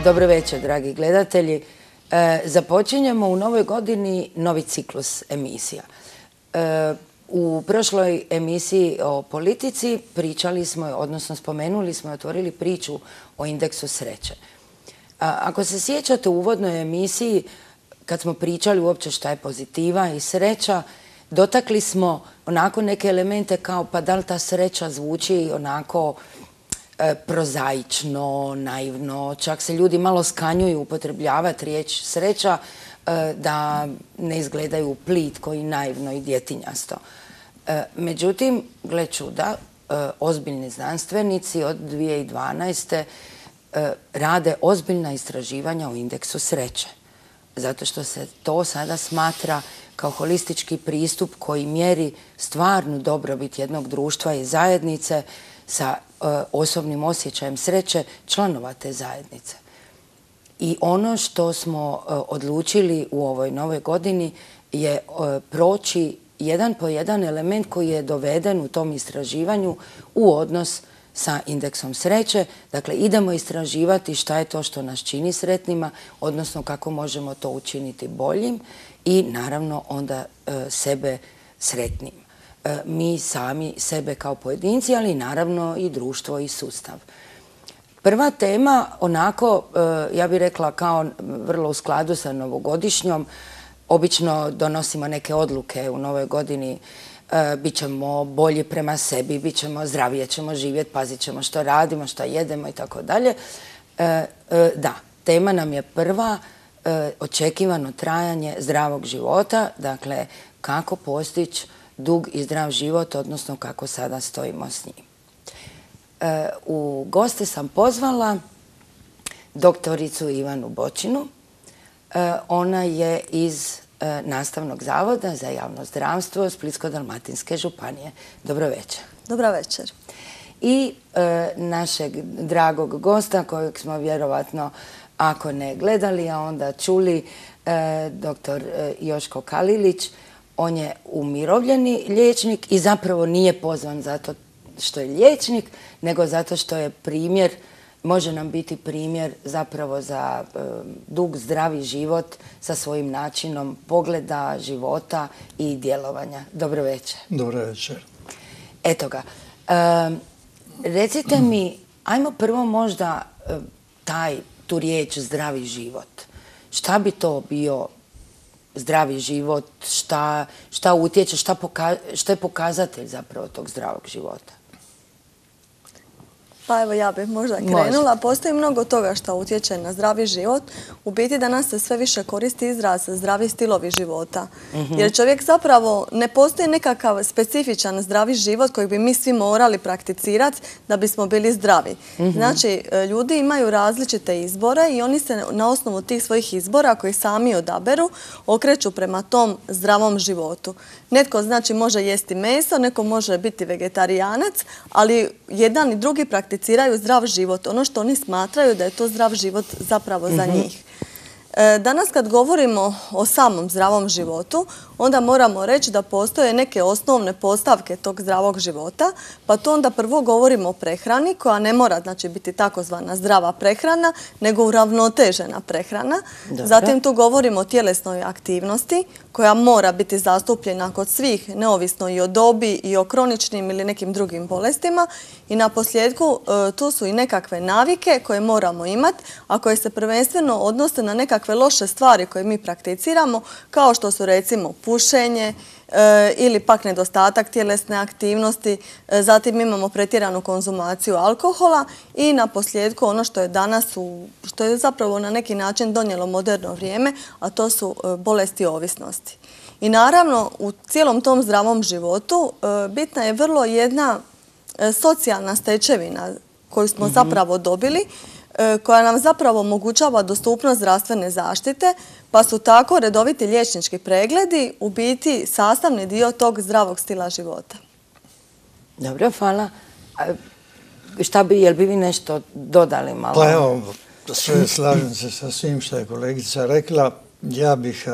Dobro večer, dragi gledatelji. Započinjemo u novoj godini novi ciklus emisija. U prošloj emisiji o politici pričali smo, odnosno spomenuli smo i otvorili priču o indeksu sreće. Ako se sjećate u uvodnoj emisiji, kad smo pričali uopće šta je pozitiva i sreća, dotakli smo onako neke elemente kao pa da li ta sreća zvuči onako prozaično, naivno, čak se ljudi malo skanjuju upotrebljavati riječ sreća da ne izgledaju plitko i naivno i djetinjasto. Međutim, gle čuda, ozbiljni znanstvenici od 2012. Rade ozbiljna istraživanja o indeksu sreće. Zato što se to sada smatra kao holistički pristup koji mjeri stvarnu dobrobit jednog društva i zajednice sa osobnim osjećajem sreće članova te zajednice. I ono što smo odlučili u ovoj novoj godini je proći jedan po jedan element koji je doveden u tom istraživanju u odnos sa indeksom sreće. Dakle, idemo istraživati šta je to što nas čini sretnima, odnosno kako možemo to učiniti boljim i naravno onda sebe sretnim. Mi sami sebe kao pojedinci, ali naravno i društvo i sustav. Prva tema, onako, ja bih rekla kao vrlo u skladu sa novogodišnjom, obično donosimo neke odluke u novoj godini, bit ćemo bolji prema sebi, bit ćemo zdravije, ćemo živjeti, pazit ćemo što radimo, što jedemo i tako dalje. Da, tema nam je prva, očekivano trajanje zdravog života, dakle kako postići dug i zdrav život, odnosno kako sada stojimo s njim. U goste sam pozvala doktoricu Ivanu Bočinu. Ona je iz Nastavnog zavoda za javno zdravstvo Splitsko-dalmatinske županije. Dobro večer. Dobro večer. I našeg dragog gosta kojeg smo vjerovatno, ako ne gledali, a onda čuli, doktor Joško Kalilić. On je umirovljeni liječnik i zapravo nije pozvan zato što je liječnik, nego zato što je primjer, može nam biti primjer zapravo za dug, zdravi život sa svojim načinom pogleda, života i djelovanja. Dobro večer. Dobro večer. Eto ga. Recite mi, ajmo prvo možda tu riječ zdravi život. Šta bi to bio zdravi život, šta utječe, šta je pokazatelj zapravo tog zdravog života? Pa evo ja bih možda krenula. Postoji mnogo toga što utječe na zdravi život. U biti danas se sve više koristi izraz zdravi stilovi života. Jer čovjek zapravo ne postoji nekakav specifičan zdravi život koji bi mi svi morali prakticirati da bismo bili zdravi. Znači, ljudi imaju različite izbore i oni se na osnovu tih svojih izbora koji sami odaberu okreću prema tom zdravom životu. Netko znači može jesti meso, neko može biti vegetarijanac, ali jedan i drugi prakticiraju zdrav život. Ono što oni smatraju da je to zdrav život zapravo za njih. Danas kad govorimo o samom zdravom životu, onda moramo reći da postoje neke osnovne postavke tog zdravog života, pa to onda prvo govorimo o prehrani koja ne mora znači biti takozvana zdrava prehrana, nego uravnotežena prehrana. Zatim tu govorimo o tjelesnoj aktivnosti koja mora biti zastupljena kod svih, neovisno i o dobi i o kroničnim ili nekim drugim bolestima. I na posljedku tu su i nekakve navike koje moramo imati, a koje se prvenstveno odnose na nekakve loše stvari koje mi prakticiramo, kao što su recimo pušenje ili pak nedostatak tjelesne aktivnosti. Zatim imamo pretjeranu konzumaciju alkohola i na posljedku ono što je danas, što je zapravo na neki način donijelo moderno vrijeme, a to su bolesti ovisnosti. I naravno u cijelom tom zdravom životu bitna je vrlo jedna socijalna stečevina koju smo zapravo dobili, koja nam zapravo omogućava dostupnost zdravstvene zaštite, pa su tako redoviti liječnički pregledi u biti sastavni dio tog zdravog stila života. Dobro, hvala. Jel bi vi nešto dodali malo? Pa evo, sve slažem se sa svim što je kolegica rekla. Ja bih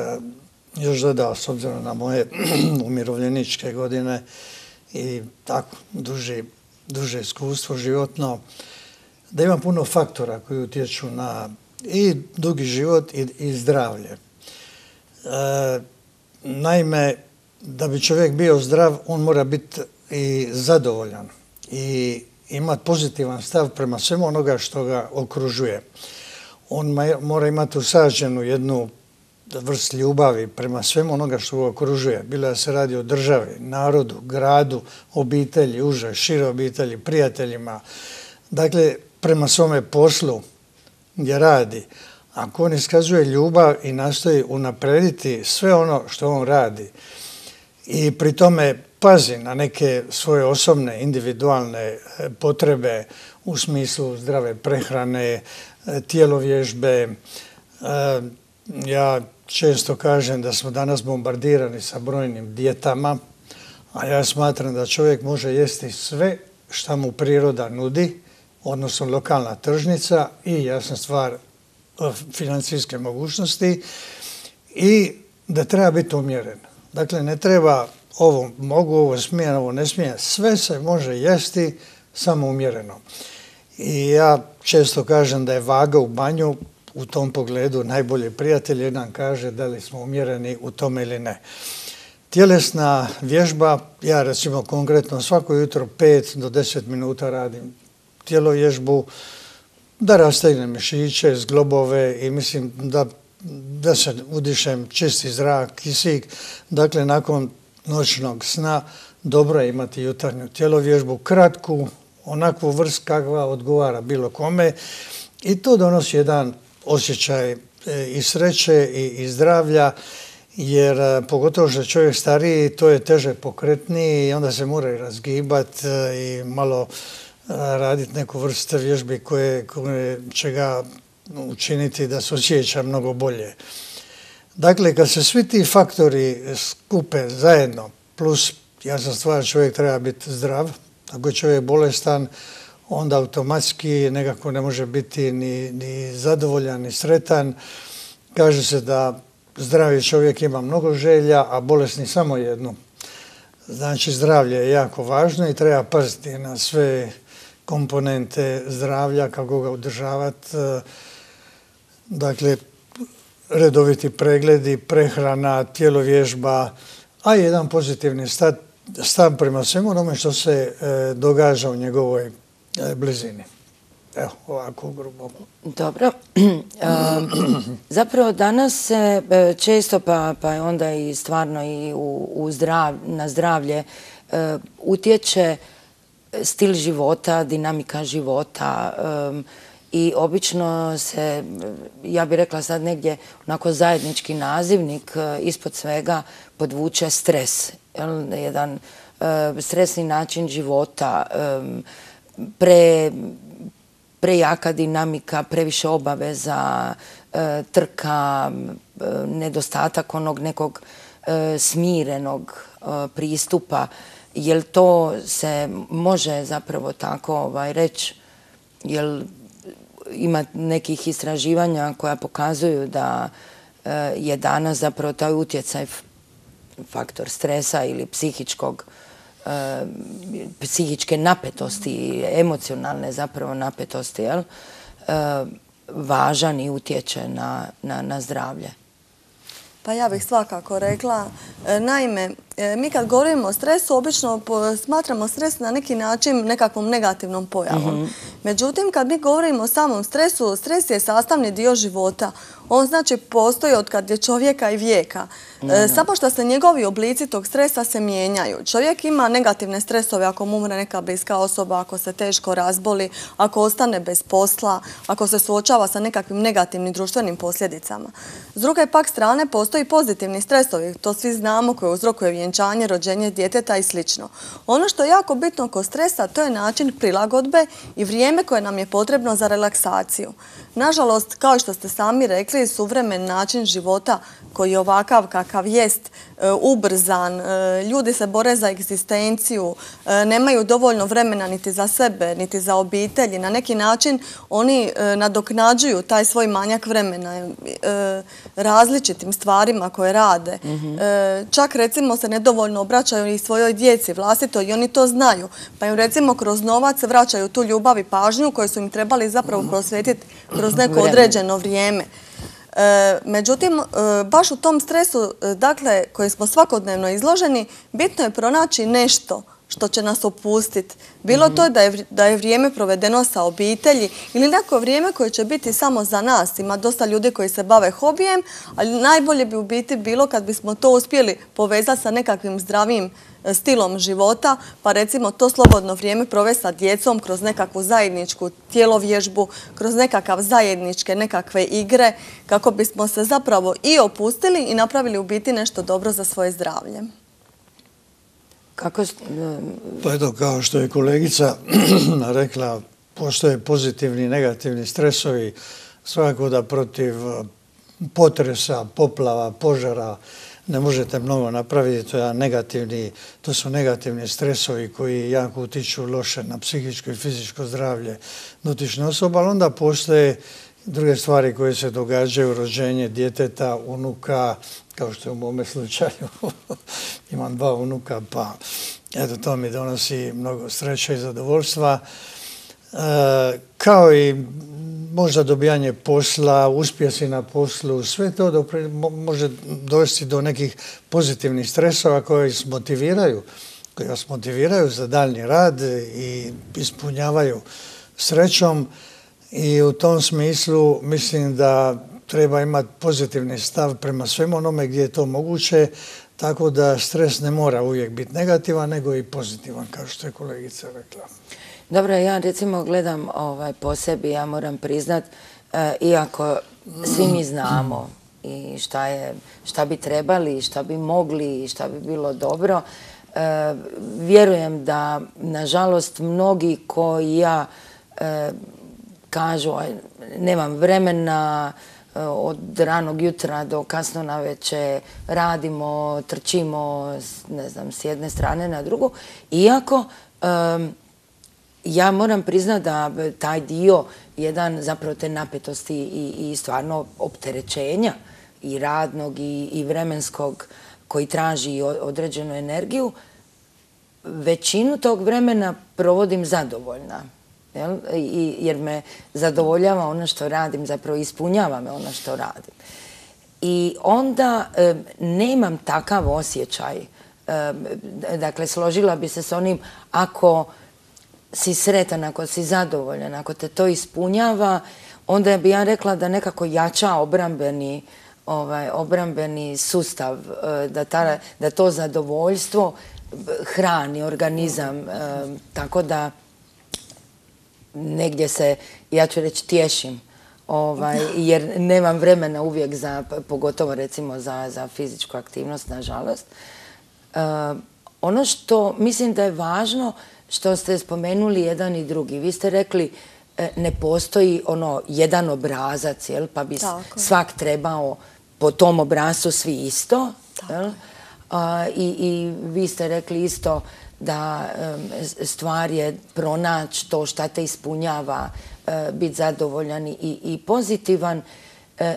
još dodao, s obzirom na moje umirovljeničke godine i tako duže iskustvo životno, da ima puno faktora koji utječu na i dugi život i zdravlje. Naime, da bi čovjek bio zdrav, on mora biti i zadovoljan i imati pozitivan stav prema svemu onoga što ga okružuje. On mora imati usađenu jednu vrst ljubavi prema svemu onoga što ga okružuje. Bilo da se radi o državi, narodu, gradu, obitelji, uže, šire obitelji, prijateljima. Dakle, prema svome poslu gdje radi. Ako on iskazuje ljubav i nastoji unaprijediti sve ono što on radi i pri tome pazi na neke svoje osobne, individualne potrebe u smislu zdrave prehrane, tjelovježbe. Ja često kažem da smo danas bombardirani sa brojnim dijetama, a ja smatram da čovjek može jesti sve što mu priroda nudi, odnosno lokalna tržnica i jasna stvar financijske mogućnosti i da treba biti umjeren. Dakle, ne treba ovo mogu, ovo smijem, ovo ne smijem. Sve se može jesti samo umjereno. I ja često kažem da je vaga u banju u tom pogledu najbolji prijatelj jer nam kaže da li smo umjereni u tome ili ne. Tjelesna vježba, ja recimo konkretno svako jutro 5 do 10 minuta radim tjelovježbu, da rastegnem mišiće, zglobove i mislim da se udišem čisti zrak, kisik. Dakle, nakon noćnog sna dobro je imati jutarnju tjelovježbu, kratku, onakvu vrst kakva odgovara bilo kome i to donosi jedan osjećaj i sreće i zdravlja, jer pogotovo što je čovjek stariji, to je teže pokretniji i onda se mora i razgibati i malo raditi neku vrstu vježbi koje će ga učiniti da se osjeća mnogo bolje. Dakle, kad se svi ti faktori skupe zajedno, plus jasna stvar, čovjek treba biti zdrav. Ako je čovjek bolestan, onda automatski nekako ne može biti ni zadovoljan, ni sretan. Kaže se da zdravi čovjek ima mnogo želja, a bolesni samo jednu. Znači, zdravlje je jako važno i treba paziti na sve komponente zdravlja, kako ga održavati. Dakle, redoviti pregledi, prehrana, tjelovježba, a jedan pozitivni stav prema svemu onome što se događa u njegovoj blizini. Evo, ovako grubo. Dobro. Zapravo danas se često, pa je onda i stvarno i na zdravlje utječe stil života, dinamika života i obično se, ja bih rekla sad negdje onako zajednički nazivnik ispod svega podvuče stres. Jedan stresni način života, prejaka dinamika, previše obaveza, trka, nedostatak onog nekog smirenog pristupa. Jel to se može zapravo tako reći? Jel ima nekih istraživanja koja pokazuju da je danas zapravo taj utjecaj faktor stresa ili psihičke napetosti, emocionalne zapravo napetosti, važan i utječe na zdravlje? Pa ja bih svakako rekla. Naime, mi kad govorimo o stresu, obično smatramo stres na neki način nekakvom negativnom pojavom. Međutim, kad mi govorimo o samom stresu, stres je sastavni dio života. On znači postoji od kad je čovjeka i vijeka. Samo što se njegovi oblici tog stresa se mijenjaju. Čovjek ima negativne stresove ako mu umre neka bliska osoba, ako se teško razboli, ako ostane bez posla, ako se suočava sa nekakvim negativnim društvenim posljedicama. S druge pak strane postoji pozitivni stresovi, to svi znamo, koji uzrokuje vjenčanje, rođenje djeteta i sl. Ono što je jako bitno kod stresa, to je način prilagodbe i vrijeme koje nam je potrebno za relaksaciju. Nažalost, kao što ste sami rekli, suvremen način života koji je ovakav kakav jest, ubrzan, ljudi se bore za egzistenciju, nemaju dovoljno vremena niti za sebe, niti za obitelji. Na neki način oni nadoknađuju taj svoj manjak vremena različitim stvarima koje rade. Čak recimo se nedovoljno obraćaju i svojoj djeci vlastito i oni to znaju. Pa im recimo kroz novac vraćaju tu ljubav i pažnju koju su im trebali zapravo prosvetiti kroz neko određeno vrijeme. Međutim, baš u tom stresu, dakle, koji smo svakodnevno izloženi, bitno je pronaći nešto što će nas opustiti. Bilo to da je vrijeme provedeno sa obitelji ili neko vrijeme koje će biti samo za nas. Ima dosta ljudi koji se bave hobijem, ali najbolje bi u biti bilo kad bismo to uspjeli povezati sa nekakvim zdravim stilom života, pa recimo to slobodno vrijeme provesti sa djecom kroz nekakvu zajedničku tjelovježbu, kroz nekakav zajedničke nekakve igre, kako bismo se zapravo i opustili i napravili u biti nešto dobro za svoje zdravlje. Pa eto, kao što je kolegica rekla, postoje pozitivni i negativni stresovi. Svakako da protiv potresa, poplava, požara ne možete mnogo napraviti. To su negativni stresovi koji jako utiču loše na psihičko i fizičko zdravlje dotične osobe, ali onda postoje druge stvari koje se događaju, rođenje djeteta, unuka, kao što je u mome slučaju. Imam 2 unuka, pa eto, to mi donosi mnogo sreće i zadovoljstva. Kao i možda dobijanje posla, uspjesi na poslu, sve to može dovesti do nekih pozitivnih stresova koji vas motiviraju za daljnji rad i ispunjavaju srećom. I u tom smislu mislim da treba imati pozitivni stav prema svemu onome gdje je to moguće, tako da stres ne mora uvijek biti negativan, nego i pozitivan, kao što je kolegica rekla. Dobro, ja recimo gledam po sebi, ja moram priznat, iako svi mi znamo i šta bi trebali, šta bi mogli i šta bi bilo dobro, vjerujem da, nažalost, mnogi koji ja kažu nemam vremena, od ranog jutra do kasno navečer radimo, trčimo, ne znam, s jedne strane na drugu, iako ja moram priznati da taj dio, jedan zapravo te napetosti i stvarno opterećenja i radnog i vremenskog koji traži određenu energiju, većinu tog vremena provodim zadovoljna. Jer me zadovoljava ono što radim, zapravo ispunjava me ono što radim. I onda nemam takav osjećaj. Dakle, složila bi se s onim, ako si sretan, ako si zadovoljan, ako te to ispunjava, onda bi ja rekla da nekako jača obrambeni sustav, da to zadovoljstvo hrani organizam, tako da negdje se, ja ću reći, tješim, jer nemam vremena uvijek pogotovo recimo za fizičku aktivnost, nažalost. Ono što mislim da je važno, što ste spomenuli jedan i drugi, vi ste rekli ne postoji jedan obrazac, pa bi svak trebao po tom obrascu svi isto. I vi ste rekli isto da stvar je pronaći to šta te ispunjava, biti zadovoljan i pozitivan.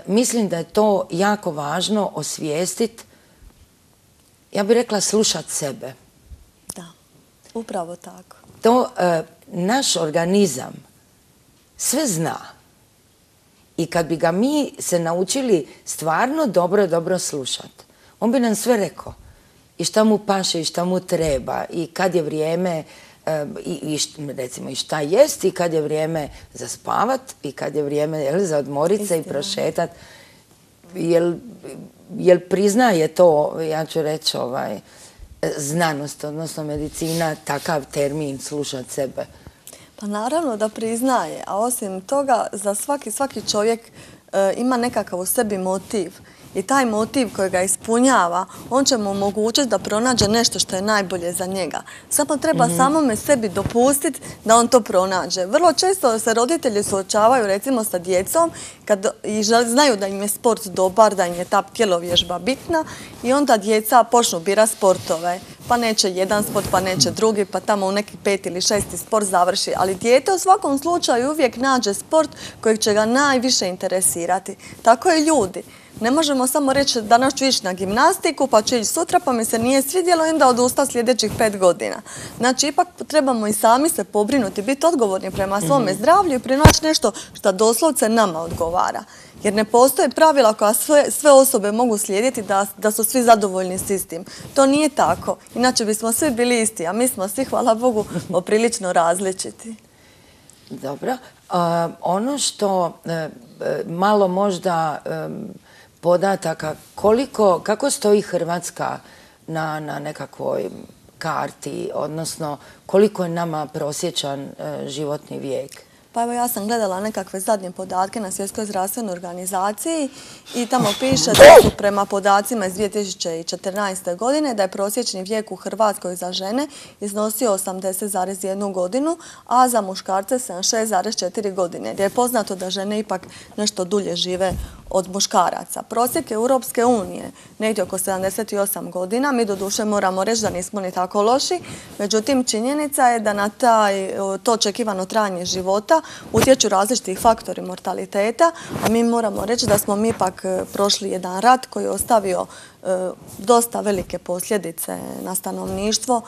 Mislim da je to jako važno osvijestiti, ja bih rekla slušati sebe. Da, upravo tako. To naš organizam sve zna. I kad bi ga mi se naučili stvarno dobro slušati, on bi nam sve rekao. I šta mu paše i šta mu treba i kad je vrijeme recimo i šta jest i kad je vrijeme za spavat i kad je vrijeme za odmorit se i prošetat. Jel priznaje to, ja ću reći, znanost, odnosno medicina, takav termin slušat sebe? Pa naravno da priznaje, a osim toga za svaki čovjek ima nekakav u sebi motiv. i taj motiv koji ga ispunjava, on će mu omogućiti da pronađe nešto što je najbolje za njega. Samo treba samome sebi dopustiti da on to pronađe. Vrlo često se roditelji suočavaju recimo sa djecom i znaju da im je sport dobar, da im je ta tjelovježba bitna i onda djeca počnu birati sportove. Pa neće jedan sport, pa neće drugi, pa tamo u neki 5. ili 6. sport završi. Ali dijete u svakom slučaju uvijek nađe sport kojeg će ga najviše interesirati. Tako i ljudi. Ne možemo samo reći danas ću ići na gimnastiku, pa ću ići sutra, pa mi se nije svidjelo i onda odusta sljedećih 5 godina. Znači, ipak trebamo i sami se pobrinuti, biti odgovorni prema svome zdravlju i pronaći nešto što doslovce nama odgovara. Jer ne postoje pravila koja sve osobe mogu slijediti da su svi zadovoljni s istim. To nije tako. Inače bismo svi bili isti, a mi smo svi, hvala Bogu, poprilično različiti. Dobro. Ono što malo možda podataka, kako stoji Hrvatska na nekakvoj karti, odnosno koliko je nama prosječan životni vijek? Pa evo ja sam gledala nekakve zadnje podatke na Svjetskoj zdravstvenoj organizaciji i tamo piše da su prema podacima iz 2014. godine da je prosječni vijek u Hrvatskoj za žene iznosio 80,1 godinu, a za muškarce 76,4 godine. Jer je poznato da žene ipak nešto dulje žive od muškaraca. Prosjek Europske unije negdje oko 78 godina. Mi doduše moramo reći da nismo ni tako loši. Međutim, činjenica je da na to očekivano trajanje života utječu različiti faktori mortaliteta, a mi moramo reći da smo mi ipak prošli jedan rat koji je ostavio dosta velike posljedice na stanovništvo,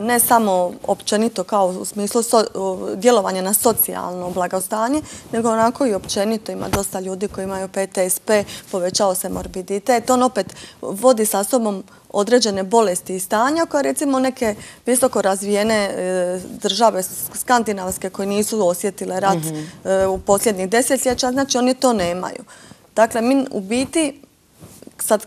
ne samo općenito kao u smislu djelovanja na socijalno blagostanje, nego onako i općenito ima dosta ljudi koji imaju PTSP, povećao se morbiditet. On opet vodi sa sobom određene bolesti i stanja koje recimo neke visoko razvijene države skandinavske koje nisu osjetile rat u posljednjih desetljeća, znači oni to nemaju. Dakle, mi u biti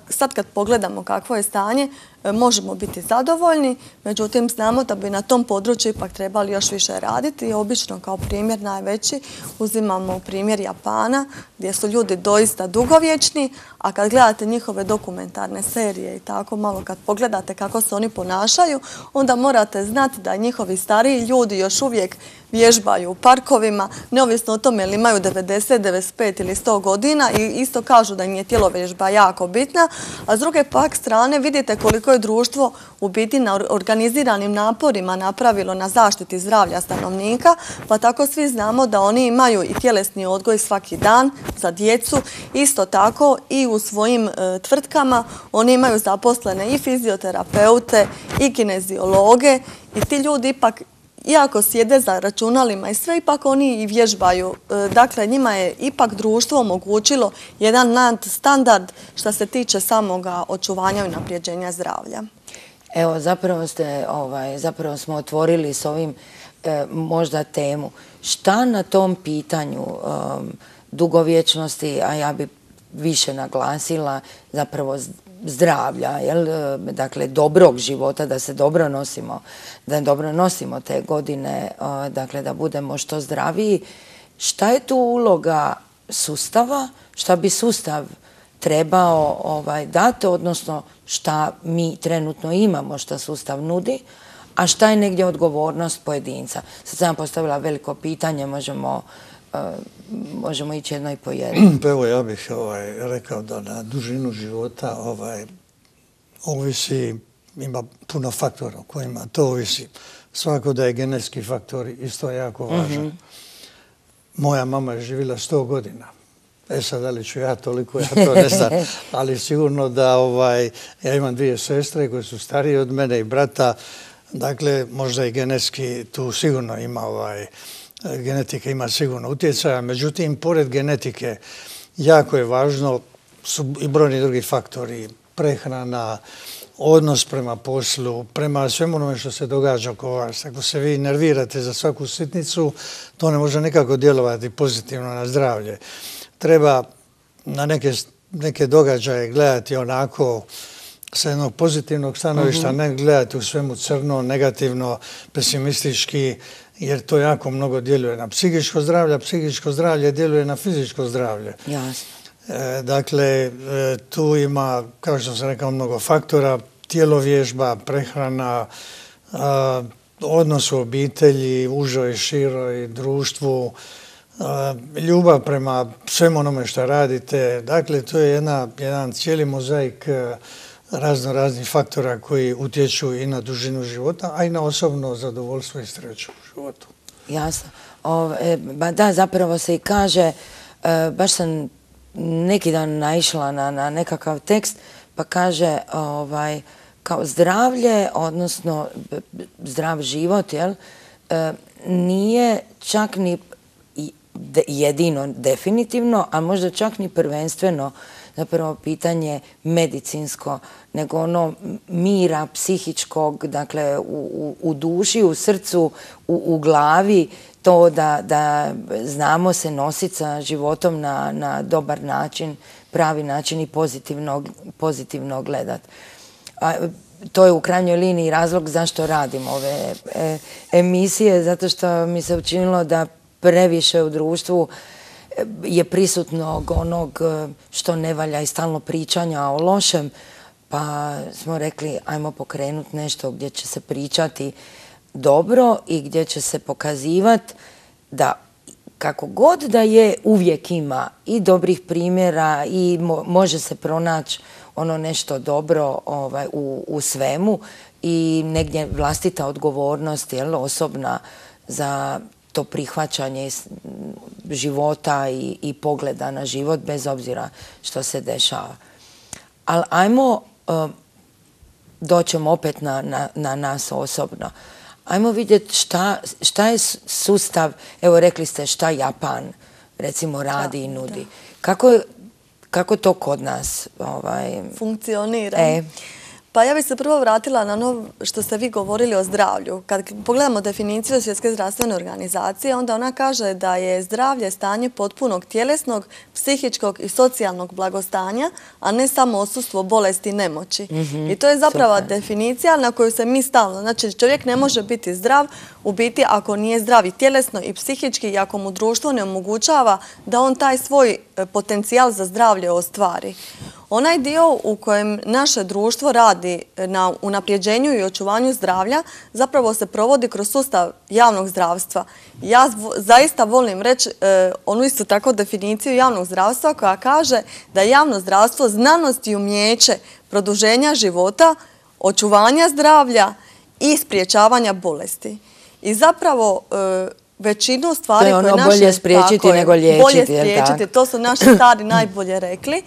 sad kad pogledamo kakvo je stanje, možemo biti zadovoljni, međutim znamo da bi na tom području ipak trebali još više raditi i obično kao primjer najveći uzimamo primjer Japana gdje su ljudi doista dugovječni, a kad gledate njihove dokumentarne serije i tako malo kad pogledate kako se oni ponašaju, onda morate znati da njihovi stariji ljudi još uvijek vježbaju u parkovima, neovisno o tome ili imaju 90, 95 ili 100 godina i isto kažu da im je tjelovježba jako bitna, a s druge pak strane vidite koliko je društvo u biti na organiziranim naporima napravilo na zaštiti zdravlja stanovnika, pa tako svi znamo da oni imaju i tjelesni odgoj svaki dan za djecu, isto tako i u svojim tvrtkama oni imaju zaposlene i fizioterapeute i kineziologe i ti ljudi ipak iako sjede za računalima i sve, ipak oni i vježbaju. Dakle, njima je ipak društvo omogućilo jedan nadstandard što se tiče samoga očuvanja i unapređenja zdravlja. Evo, zapravo smo otvorili s ovim možda temu. Šta na tom pitanju dugovječnosti, a ja bi više naglasila zapravo zdravlja, dakle dobrog života, da se dobro nosimo, da dobro nosimo te godine, dakle da budemo što zdraviji. Šta je tu uloga sustava? Šta bi sustav trebao dati, odnosno šta mi trenutno imamo, šta sustav nudi, a šta je negdje odgovornost pojedinca? Sad sam postavila veliko pitanje, možemo ići jedno i po jedno. Pa evo, ja bih rekao da na dužinu života ovisi, ima puno faktora o kojima to ovisi. Svako da je genetski faktor isto jako važan. Moja mama je živjela 100 godina. Sad, da li ću ja toliko, ja to ne znam. Ali sigurno da ja imam 2 sestre koje su starije od mene i brata. Dakle, možda i genetski tu sigurno ima genetika ima sigurno utjecaja. Međutim, pored genetike, jako je važno su i brojni drugi faktori. Prehrana, odnos prema poslu, prema svemu onome što se događa oko vas. Ako se vi nervirate za svaku sitnicu, to ne može nikako djelovati pozitivno na zdravlje. Treba na neke događaje gledati onako sa jednog pozitivnog stanovišta, ne gledati u svemu crno, negativno, pesimistički, jer to jako mnogo djeluje na psihičko zdravlje, a psihičko zdravlje djeluje na fizičko zdravlje. Jasno. Dakle, tu ima, kao što sam rekao, mnogo faktora, tjelovježba, prehrana, odnos u obitelji, užoj, široj, društvu, ljubav prema svemu onome što radite. Dakle, to je jedan cijeli mozaik raznih faktora koji utječu i na dužinu života, a i na osobno zadovoljstvo i sreću u životu. Jasno. Da, zapravo se i kaže, baš sam neki dan naišla na nekakav tekst, pa kaže kao zdravlje, odnosno zdrav život, nije čak ni jedino definitivno, a možda čak ni prvenstveno zapravo pitanje medicinsko, nego ono mira psihičkog, dakle u duši, u srcu, u glavi, to da znamo se nositi sa životom na dobar način, pravi način i pozitivno gledati. To je u krajnjoj liniji razlog zašto radim ove emisije, zato što mi se učinilo da previše u društvu je prisutnog onog što ne valja i stalno pričanja o lošem, pa smo rekli ajmo pokrenuti nešto gdje će se pričati dobro i gdje će se pokazivati da kako god da je, uvijek ima i dobrih primjera i može se pronaći ono nešto dobro u svemu i negdje vlastita odgovornost, osobna za to prihvaćanje života i pogleda na život bez obzira što se dešava. Ali ajmo, doćemo opet na nas osobno. Ajmo vidjeti šta je sustav, evo rekli ste šta Japan recimo radi i nudi. Kako to kod nas funkcionira? Pa ja bih se prvo vratila na ono što ste vi govorili o zdravlju. Kad pogledamo definiciju Svjetske zdravstvene organizacije, onda ona kaže da je zdravlje stanje potpunog tjelesnog, psihičkog i socijalnog blagostanja, a ne samo odsustvo bolesti i nemoći. I to je zapravo definicija na koju se mi stalno, znači čovjek ne može biti zdrav u biti ako nije zdrav i tjelesno i psihički i ako mu društvo ne omogućava da on taj svoj potencijal za zdravlje ostvari. Onaj dio u kojem naše društvo radi na unapređenju i očuvanju zdravlja zapravo se provodi kroz sustav javnog zdravstva. Ja zaista volim reći onu isto tako definiciju javnog zdravstva koja kaže da je javno zdravstvo znanost i umijeće produženja života, očuvanja zdravlja i spriječavanja bolesti. I zapravo većinu stvari koje naše... To je ono bolje spriječiti nego liječiti. Bolje spriječiti, to su naši stari najbolje rekli.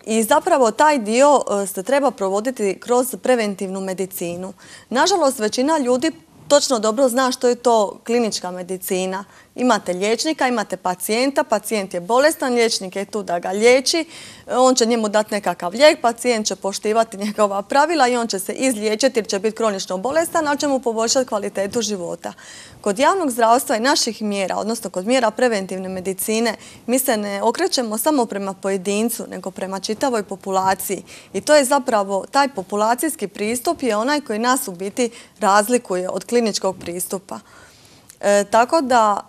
I zapravo taj dio se treba provoditi kroz preventivnu medicinu. Nažalost, većina ljudi točno dobro zna što je to klinička medicina. Imate liječnika, imate pacijenta, pacijent je bolestan, liječnik je tu da ga liječi, on će njemu dati nekakav lijek, pacijent će poštivati njegova pravila i on će se izliječiti jer će biti kronično bolestan, ali će mu poboljšati kvalitetu života. Kod javnog zdravstva i naših mjera, odnosno kod mjera preventivne medicine, mi se ne okrećemo samo prema pojedincu, nego prema čitavoj populaciji. I to je zapravo, taj populacijski pristup je onaj koji nas u biti razlikuje od kliničkog pristupa. Tako da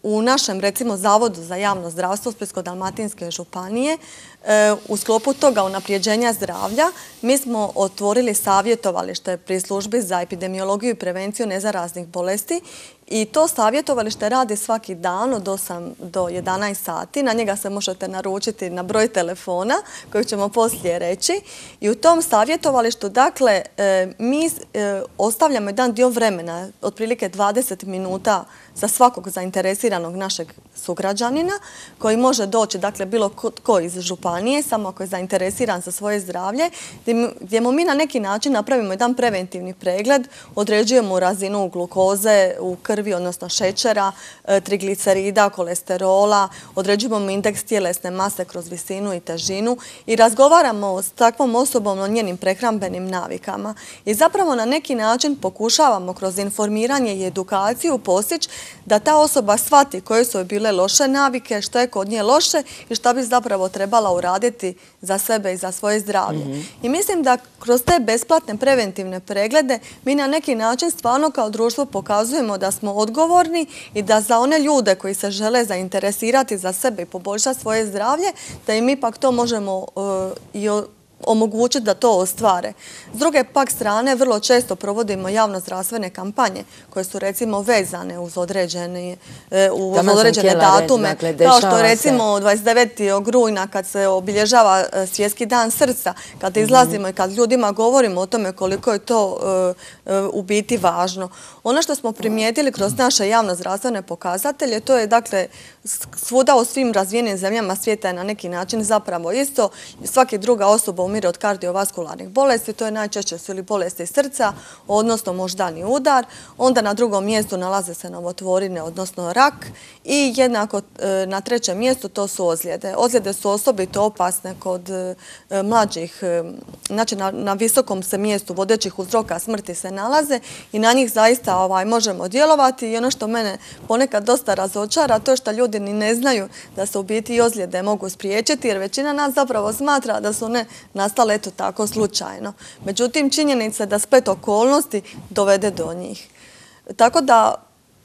u našem, recimo, Zavodu za javno zdravstvo Splitsko-dalmatinske županije u sklopu toga unapređenja zdravlja mi smo otvorili savjetovalište pri službi za epidemiologiju i prevenciju nezaraznih bolesti i to savjetovalište radi svaki dan od 8 do 11 sati. Na njega se možete naručiti na broj telefona koji ćemo poslije reći. I u tom savjetovalištu, dakle, mi ostavljamo jedan dio vremena, otprilike 20 minuta za svakog zainteresiranog našeg sugrađanina koji može doći, dakle, bilo tko iz županije, samo ako je zainteresiran za svoje zdravlje, gdje mu mi na neki način napravimo jedan preventivni pregled, određujemo razinu glukoze u krvi, odnosno šećera, triglicerida, kolesterola, određujemo indeks tjelesne mase kroz visinu i težinu i razgovaramo s takvom osobom o njenim prehrambenim navikama. I zapravo na neki način pokušavamo kroz informiranje i edukaciju postići da ta osoba shvati koje su joj bile loše navike, što je kod nje loše i što bi zapravo trebala uraditi za sebe i za svoje zdravlje. I mislim da kroz te besplatne preventivne preglede mi na neki način stvarno kao društvo pokazujemo da smo odgovorni i da za one ljude koji se žele zainteresirati za sebe i poboljšati svoje zdravlje, da im ipak to možemo i omogućiti da to ostvare. S druge pak strane, vrlo često provodimo javno-zdravstvene kampanje koje su recimo vezane uz određene datume, kao što recimo 29. rujna kad se obilježava Svjetski dan srca, kad izlazimo i kad ljudima govorimo o tome koliko je to u biti važno. Ono što smo primijetili kroz naše javno-zdravstvene pokazatelje, to je dakle svuda u svim razvijenim zemljama svijeta je na neki način zapravo isto. Svaki druga osoba umire od kardiovaskularnih bolesti, to je najčešće su ili bolesti srca, odnosno moždani udar. Onda na drugom mjestu nalaze se novotvorine, odnosno rak i jednako na trećem mjestu to su ozljede. Ozljede su osobito opasne kod mlađih, znači na visokom se mjestu vodećih uzroka smrti se nalaze i na njih zaista možemo djelovati i ono što mene ponekad dosta razočara, to je što ljudi ni ne znaju da se u biti i ozljede mogu spriječiti jer većina nas zapravo smatra da su one nastale eto tako slučajno. Međutim, činjenica je da splet okolnosti dovede do njih. Tako da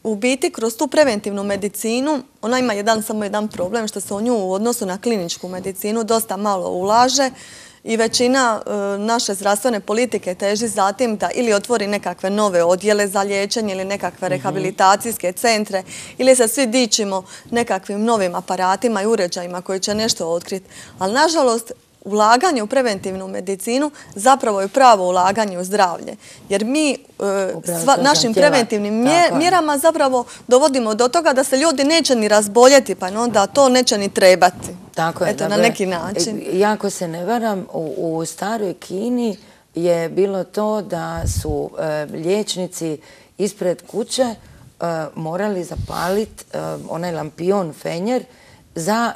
u biti kroz tu preventivnu medicinu ona ima samo jedan problem što se u nju u odnosu na kliničku medicinu dosta malo ulaže i većina naše zdravstvene politike teži zatim da ili otvori nekakve nove odjele za liječenje ili nekakve rehabilitacijske centre ili se svi dičimo nekakvim novim aparatima i uređajima koji će nešto otkriti. Ali nažalost ulaganje u preventivnu medicinu zapravo je pravo ulaganje u zdravlje. Jer mi našim preventivnim mjerama zapravo dovodimo do toga da se ljudi neće ni razboljeti, pa onda to neće ni trebati. Tako je. Eto, na neki način. Jako se ne varam, u staroj Kini je bilo to da su liječnici ispred kuće morali zapaliti onaj lampion fenjer za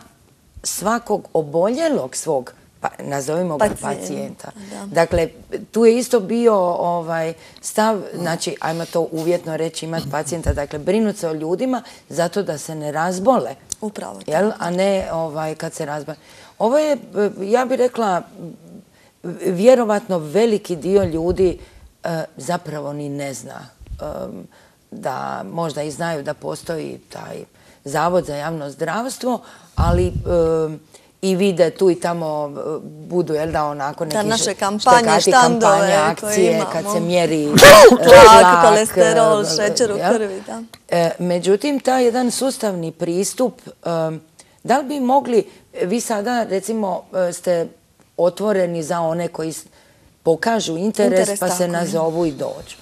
svakog oboljelog svog nazovimo ga pacijenta. Dakle, tu je isto bio stav, znači, ajmo to uvjetno reći, imati pacijenta, dakle, brinuti se o ljudima zato da se ne razbole. Upravo. A ne kad se razbole. Ovo je, ja bih rekla, vjerovatno veliki dio ljudi zapravo ni ne zna da možda i znaju da postoji taj Zavod za javno zdravstvo, ali i vide tu i tamo budu, jel da, onako neki naše kampanje, štandove, akcije, kad se mjeri tlak, kolesterol, šećer u krvi, da. Međutim, taj jedan sustavni pristup, da li bi mogli, vi sada recimo ste otvoreni za one koji pokažu interes pa se nazovu i dođu.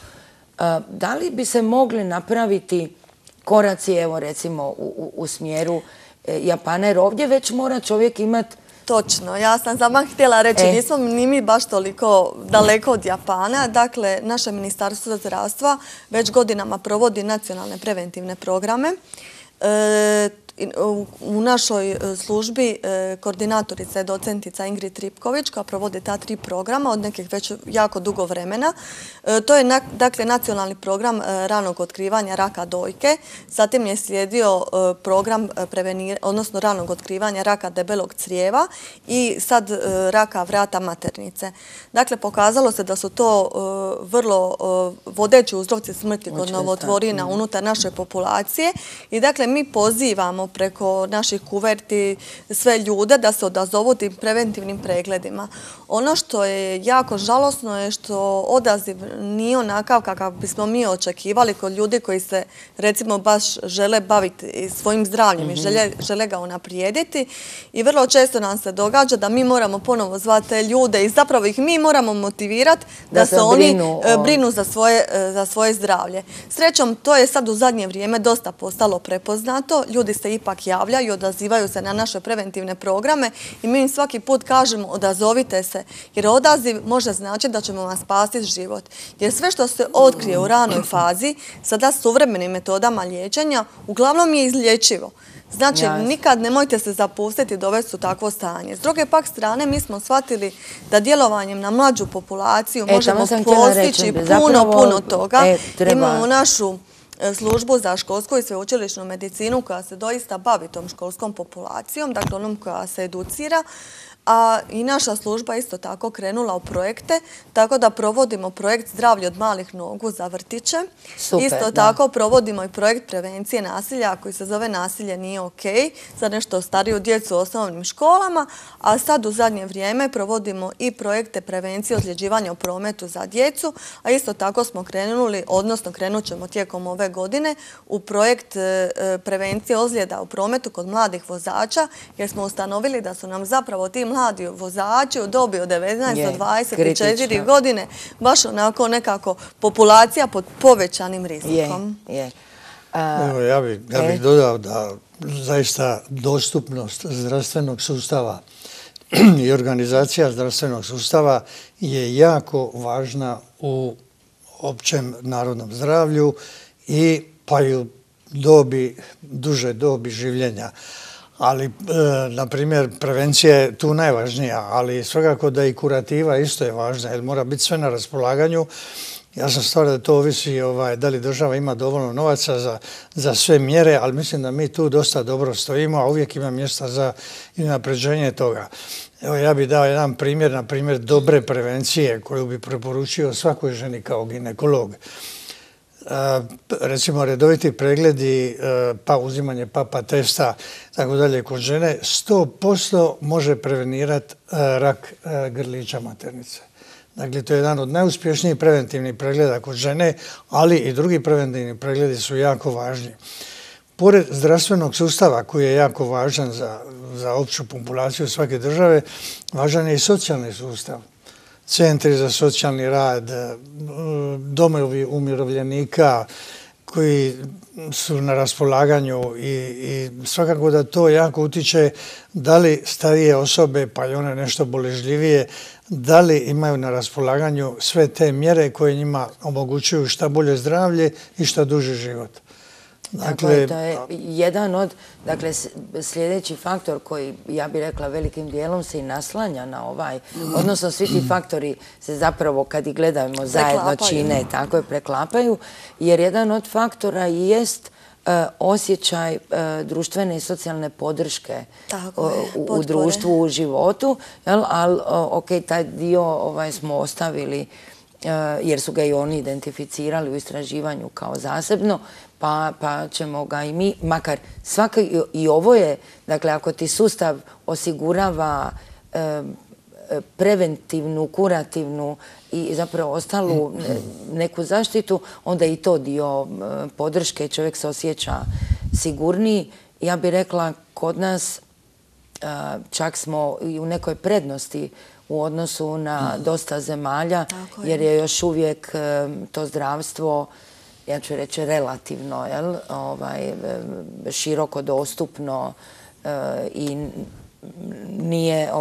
Da li bi se mogli napraviti koraci, evo recimo u smjeru Japana, jer ovdje već mora čovjek imati... Točno, ja sam sama htjela reći, nismo ni mi baš toliko daleko od Japana. Dakle, naše Ministarstvo zdravstva već godinama provodi nacionalne preventivne programe. U našoj službi koordinatorica je docentica Ingrid Tripković koja provodi ta 3 programa od nekih već jako dugo vremena. To je dakle nacionalni program ranog otkrivanja raka dojke, zatim je slijedio program odnosno ranog otkrivanja raka debelog crijeva i sad raka vrata maternice. Dakle, pokazalo se da su to vrlo vodeći uzroci smrti kod novotvorina unutar naše populacije i dakle mi pozivamo preko naših kuverti sve ljude da se odazovu tim preventivnim pregledima. Ono što je jako žalosno je što odaziv nije onakav kakav bismo mi očekivali kod ljudi koji se recimo baš žele baviti svojim zdravljem i žele ga unaprijediti i vrlo često nam se događa da mi moramo ponovo zvati te ljude i zapravo ih mi moramo motivirati da se oni brinu za svoje zdravlje. Srećom, to je sad u zadnje vrijeme dosta postalo prepoznato. Ljudi se ipak javljaju i odazivaju se na naše preventivne programe i mi im svaki put kažemo odazovite se, jer odaziv može značiti da ćemo vam spasiti život. Jer sve što se otkrije u ranoj fazi, sada suvremenim metodama liječenja, uglavnom je izlječivo. Znači, nikad nemojte se zapustiti i dovesti u takvo stanje. S druge pak strane, mi smo shvatili da djelovanjem na mlađu populaciju možemo postići puno toga. Imamo našu službu za školsku i sveučilišnu medicinu koja se doista bavi tom školskom populacijom, dakle onom koja se educira. A i naša služba isto tako krenula u projekte, tako da provodimo projekt Zdravlje od malih nogu za vrtiće. Isto tako provodimo i projekt prevencije nasilja koji se zove Nasilje nije ok za nešto stariju djecu u osnovnim školama, a sad u zadnje vrijeme provodimo i projekte prevencije ozljeđivanja u prometu za djecu, a isto tako smo krenuli, odnosno krenut ćemo tijekom ove godine u projekt prevencije ozljeda u prometu kod mladih vozača, jer smo ustanovili da su nam zapravo ti mladi vozači u dobi od 19 do 24 godine baš onako nekako populacija pod povećanim rizikom. Evo, ja bih dodao da zaista dostupnost zdravstvenog sustava i organizacija zdravstvenog sustava je jako važna u općem narodnom zdravlju i pa i u duže dobi življenja. Ali, na primjer, prevencija je tu najvažnija, ali svakako da i kurativa isto je važna, jer mora biti sve na raspolaganju. Ja sam stvar da to ovisi da li država ima dovoljno novaca za sve mjere, ali mislim da mi tu dosta dobro stojimo, a uvijek ima mjesta za unapređenje toga. Evo, ja bih dao jedan primjer, na primjer, dobre prevencije koju bi preporučio svakoj ženi kao ginekolog. Recimo redoviti pregledi, pa uzimanje papa testa, tako dalje, kod žene 100% može prevenirati rak grlića maternice. Dakle, to je jedan od najuspješnijih preventivnih pregleda kod žene, ali i drugi preventivni pregledi su jako važni. Pored zdravstvenog sustava koji je jako važan za opću populaciju svake države, važan je i socijalni sustav. Centri za socijalni rad, domovi umirovljenika koji su na raspolaganju i svakako da to jako utiče da li starije osobe, pa i one nešto boležljivije, da li imaju na raspolaganju sve te mjere koje njima omogućuju šta bolje zdravlje i šta duži život. Dakle, to je jedan od, dakle, sljedeći faktor koji, ja bih rekla, velikim dijelom se i naslanja na ovaj, odnosno svi ti faktori se zapravo, kad ih gledamo zajedno čine, tako je, preklapaju, jer jedan od faktora jest osjećaj društvene i socijalne podrške u društvu, u životu, ali ok, taj dio smo ostavili jer su ga i oni identificirali u istraživanju kao zasebno, pa ćemo ga i mi, makar i ovo je, dakle, ako ti sustav osigurava preventivnu, kurativnu i zapravo ostalu neku zaštitu, onda i to dio podrške, čovjek se osjeća sigurniji. Ja bih rekla, kod nas čak smo i u nekoj prednosti u odnosu na dosta zemalja, jer je još uvijek to zdravstvo, ja ću reći, relativno, široko dostupno i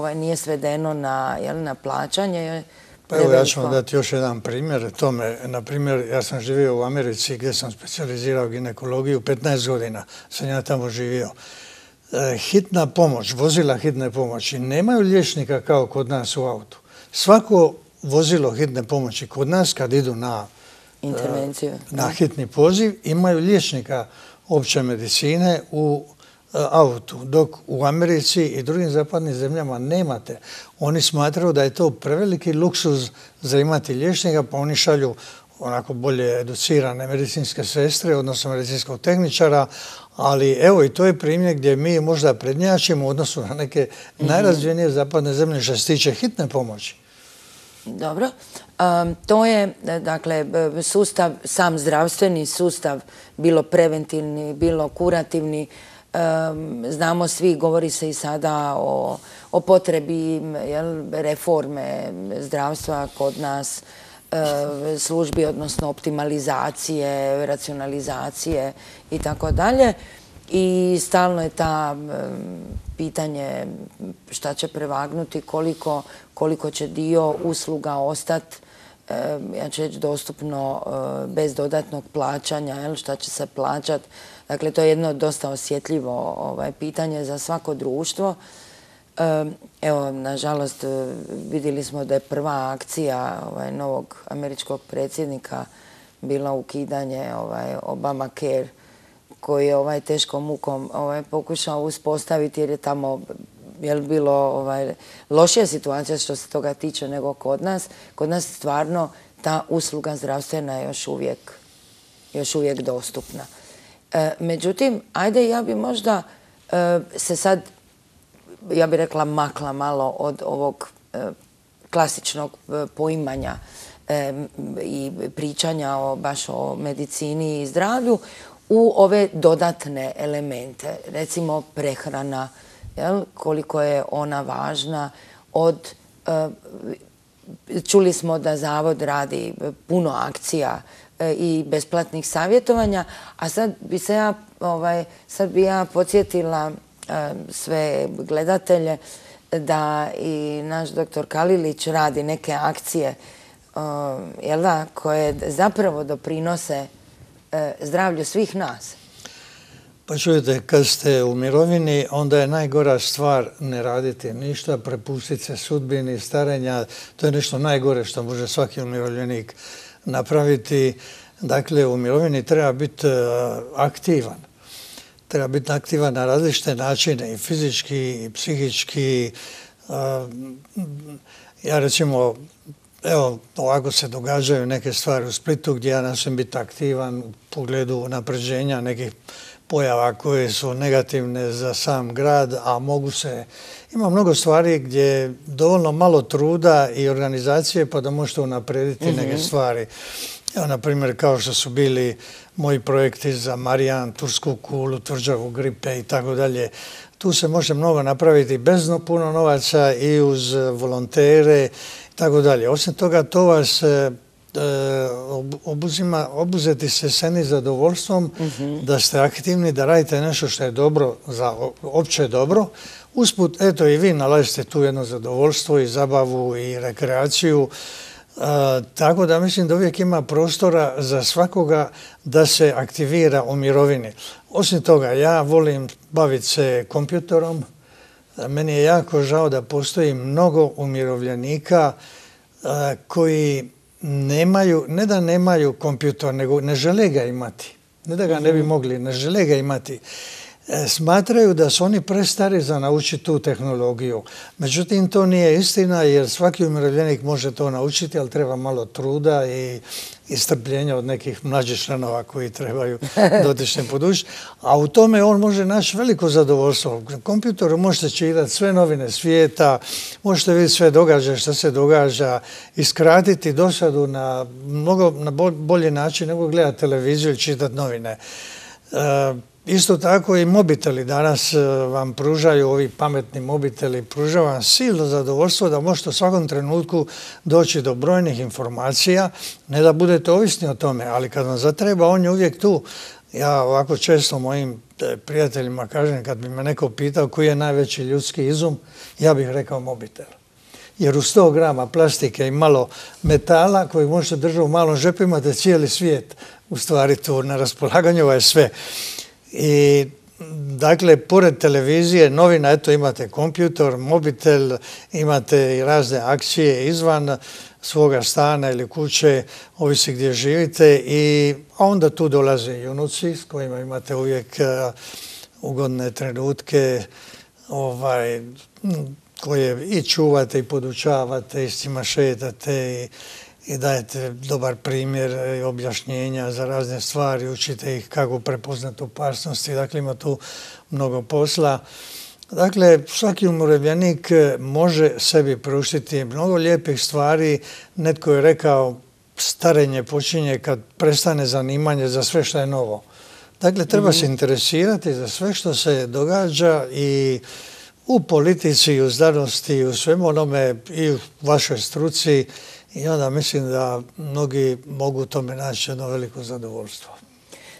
nije svedeno na plaćanje. Evo, ja ću vam dati još jedan primjer tome. Na primjer, ja sam živio u Americi gdje sam specijalizirao ginekologiju, 15 godina sam ja tamo živio. Hitna pomoć, vozila hitne pomoći nemaju liječnika kao kod nas u autu. Svako vozilo hitne pomoći kod nas kad idu na hitni poziv imaju liječnika opće medicine u autu, dok u Americi i drugim zapadnim zemljama nemate. Oni smatraju da je to preveliki luksuz za imati liječnika, pa oni šalju onako bolje educirane medicinske sestre, odnosno medicinskog tehničara, ali evo i to je primjer gdje mi možda prednjačimo u odnosu na neke najrazvijenije zapadne zemlje što se tiče hitne pomoći. Dobro. To je, dakle, sustav, sam zdravstveni sustav, bilo preventivni, bilo kurativni. Znamo svi, govori se i sada o potrebi reforme zdravstva kod nas, službi, odnosno optimalizacije, racionalizacije i tako dalje. I stalno je ta pitanje šta će prevagnuti, koliko će dio usluga ostati, ja ću reći, dostupno bez dodatnog plaćanja, šta će se plaćati. Dakle, to je jedno dosta osjetljivo pitanje za svako društvo. Evo, nažalost, vidjeli smo da je prva akcija novog američkog predsjednika bilo ukidanje Obamacare, koji je teškom mukom pokušao uspostaviti jer je tamo bilo lošija situacija što se toga tiče nego kod nas. Kod nas stvarno ta usluga zdravstvena je još uvijek dostupna. Međutim, ajde, ja bi možda se sad, ja bih rekla, makla malo od ovog klasičnog poimanja i pričanja baš o medicini i zdravlju u ove dodatne elemente, recimo prehrana, koliko je ona važna. Čuli smo da Zavod radi puno akcija i besplatnih savjetovanja, a sad bi ja podsjetila sve gledatelje da i naš doktor Kalilić radi neke akcije koje zapravo doprinose zdravlju svih nas. Pa čujete, kad ste u mirovini, onda je najgora stvar ne raditi ništa, prepustiti se sudbini, starenja. To je nešto najgore što može svaki umirovljenik napraviti. Dakle, u mirovini treba biti aktivan. Treba biti aktivan na različite načine, i fizički, i psihički. Ja recimo, evo, ovako se događaju neke stvari u Splitu gdje ja nastojim biti aktivan u pogledu unapređenja nekih pojava koje su negativne za sam grad, a ima mnogo stvari gdje je dovoljno malo truda i organizacije pa da možete unaprijediti neke stvari. Evo, na primjer, kao što su bili moji projekti za Marijan, Tursku kulu, tvrđavu gripe i tako dalje. Tu se može mnogo napraviti bez puno novaca i uz volontere i tako dalje. Osim toga, to vas obuzeti se seni zadovoljstvom da ste aktivni, da radite nešto što je dobro za opće dobro. Usput, eto, i vi nalazite tu jedno zadovoljstvo i zabavu i rekreaciju. Tako da mislim da uvijek ima prostora za svakoga da se aktivira u mirovini. Osim toga, ja volim baviti se kompjutorom. Meni je jako žao da postoji mnogo umirovljenika koji nemaju, ne da nemaju kompjutor, nego ne žele ga imati. Ne da ga ne bi mogli, ne žele ga imati. Smatraju da su oni prestari za naučiti tu tehnologiju. Međutim, to nije istina jer svaki umirovljenik može to naučiti, ali treba malo truda i strpljenja od nekih mlađih članova koji trebaju dotične podučiti. A u tome on može naći veliko zadovoljstvo. Na kompjutoru možete čitati sve novine svijeta, možete vidjeti sve događaje što se događa i skratiti dosadu na bolji način nego gledati televiziju i čitati novine. Isto tako i mobiteli danas vam pružaju, ovi pametni mobiteli, pružaju vam silno zadovoljstvo da možete u svakom trenutku doći do brojnih informacija, ne da budete ovisni o tome, ali kad vam zatreba, on je uvijek tu. Ja ovako često mojim prijateljima kažem, kad bi me neko pitao koji je najveći ljudski izum, ja bih rekao mobitel. Jer u 100 grama plastike i malo metala koji možete držati u malom žepu imate cijeli svijet. U stvari tu na raspolaganju je sve. I dakle, pored televizije, novina, eto imate kompjutor, mobitel, imate i razne akcije izvan svoga stana ili kuće, ovisi gdje živite, a onda tu dolaze i unuci s kojima imate uvijek ugodne trenutke koje i čuvate i podučavate i s njima šetate i dajete dobar primjer i objašnjenja za razne stvari, učite ih kako prepoznati opasnosti, dakle ima tu mnogo posla. Dakle, svaki umirovljenik može sebi priuštiti mnogo lijepih stvari. Netko je rekao, starenje počinje kad prestane zanimanje za sve što je novo. Dakle, treba se interesirati za sve što se događa i u politici, i u znanosti, i u svemu onome, i u vašoj struci. I onda mislim da mnogi mogu tome naći jedno veliko zadovoljstvo.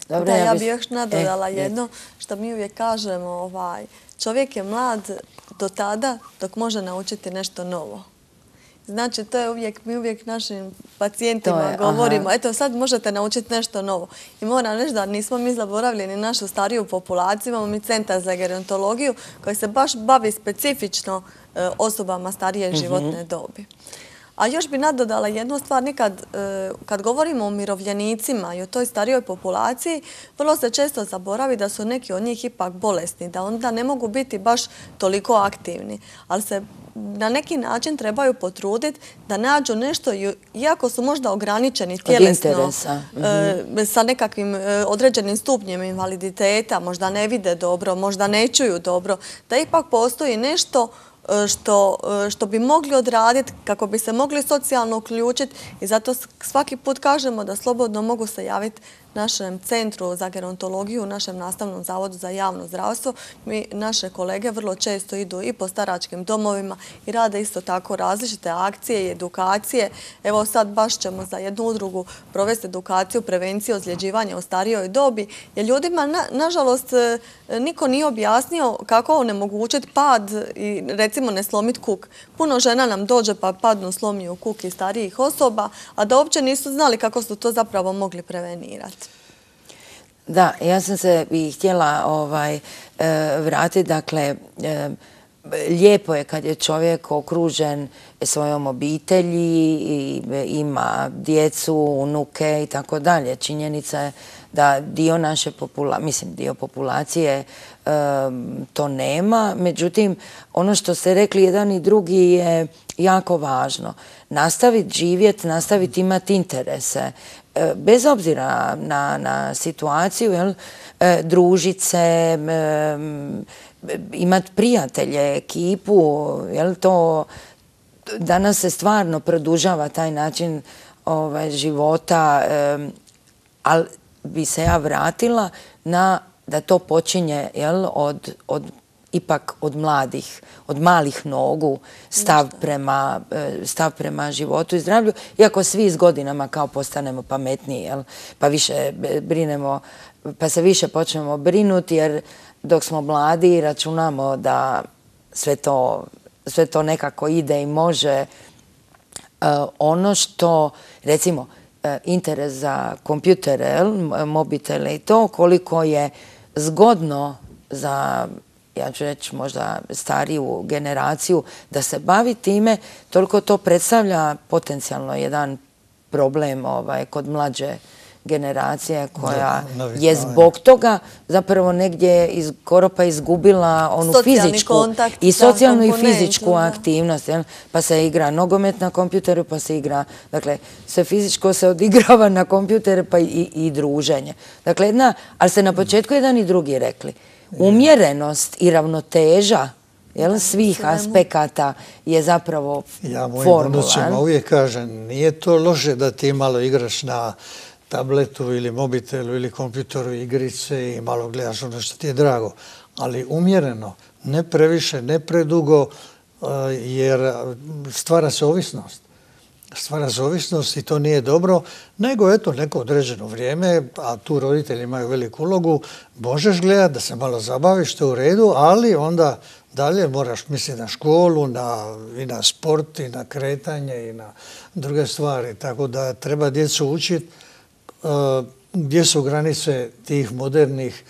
Da, ja bih još nadodala jedno što mi uvijek kažemo, čovjek je mlad do tada dok može naučiti nešto novo. Znači, to je uvijek, mi uvijek našim pacijentima govorimo, eto sad možete naučiti nešto novo. I moram reći da nismo mi zaboravili ni našu stariju populaciju, imamo mi centar za gerontologiju koji se baš bavi specifično osobama starije životne dobi. A još bi nadodala jednu stvar, nekad kad govorimo o umirovljenicima i o toj starijoj populaciji, vrlo se često zaboravi da su neki od njih ipak bolesni, da onda ne mogu biti baš toliko aktivni, ali se na neki način trebaju potruditi da nađu nešto, iako su možda ograničeni tjelesno, sa nekakvim određenim stupnjem invaliditeta, možda ne vide dobro, možda ne čuju dobro, da ipak postoji nešto što bi mogli odraditi kako bi se mogli socijalno uključiti i zato svaki put kažemo da slobodno mogu se javiti našem centru za gerontologiju, našem nastavnom zavodu za javno zdravstvo. Naše kolege vrlo često idu i po staračkim domovima i rade isto tako različite akcije i edukacije. Evo sad baš ćemo za jednu udrugu provesti edukaciju prevencije ozljeđivanja u starijoj dobi, jer ljudima, nažalost, niko nije objasnio kako onemogućiti pad i recimo ne slomiti kuk. Puno žena nam dođe pa padnu, slomiju kuk i starijih osoba, a da uopće nisu znali kako su to zapravo mogli prevenirati. Da, ja sam se i htjela vratiti, dakle, lijepo je kad je čovjek okružen svojom obitelji i ima djecu, unuke i tako dalje. Činjenica je da dio naše dio populacije to nema. Međutim, ono što ste rekli jedan i drugi je jako važno. Nastaviti živjeti, nastaviti imati interese. Bez obzira na situaciju, družit se, imati prijatelje, ekipu, to danas se stvarno produžava taj način života, ali bi se ja vratila na da to počinje ipak od mladih, od malih nogu, stav prema životu i zdravlju, iako svi s godinama kao postanemo pametniji, pa više brinemo, pa se više počnemo brinuti, jer dok smo mladi računamo da sve to nekako ide i može. Ono što, recimo, interes za kompjutere, mobitele i to, koliko je zgodno za, ja ću reći, možda stariju generaciju da se bavi time, toliko to predstavlja potencijalno jedan problem kod mlađe generacije koja je zbog toga zapravo negdje skoro pa izgubila onu fizičku i socijalnu i fizičku aktivnost. Pa se igra nogomet na kompjuteru, pa se igra, dakle, sve fizičko se odigrava na kompjuteru, pa i druženje. Dakle, ali ste na početku jedan i drugi rekli, umjerenost i ravnoteža svih aspekata je zapravo formula. Ja mojim unucima uvijek kažem, nije to loše da ti malo igraš na tabletu ili mobitelu ili kompjuteru igrice i malo gledaš ono što ti je drago, ali umjereno, ne previše, ne predugo, jer stvara se ovisnost. Stvara se ovisnost i to nije dobro, nego eto neko određeno vrijeme, a tu roditelji imaju veliku ulogu, možeš gledati da se malo zabaviš, to u redu, ali onda dalje moraš misliti na školu, i na sport, i na kretanje, i na druge stvari. Tako da treba djecu učiti gdje su granice tih modernih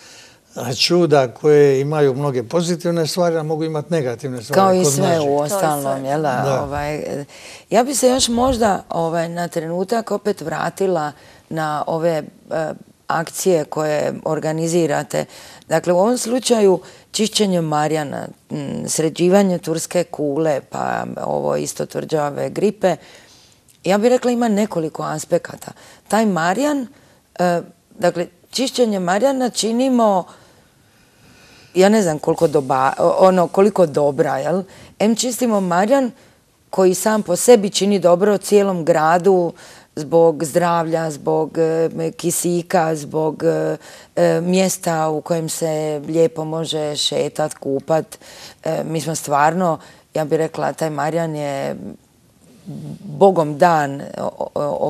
čuda koje imaju mnoge pozitivne stvari, a mogu imati negativne stvari. Kao i sve u ostalom. Ja bi se još možda na trenutak opet vratila na ove akcije koje organizirate. Dakle, u ovom slučaju čišćenje Marjana, sređivanje turske kule, pa ovo isto tvrđave gripe, ja bih rekla ima nekoliko aspekata. Taj Marjan, dakle, čišćenje Marjana činimo, ja ne znam koliko dobra, jel? Čistimo Marjan koji sam po sebi čini dobro cijelom gradu zbog zdravlja, zbog kisika, zbog mjesta u kojem se lijepo može šetat, kupat. Mi smo stvarno, ja bih rekla, taj Marjan je Bogom dan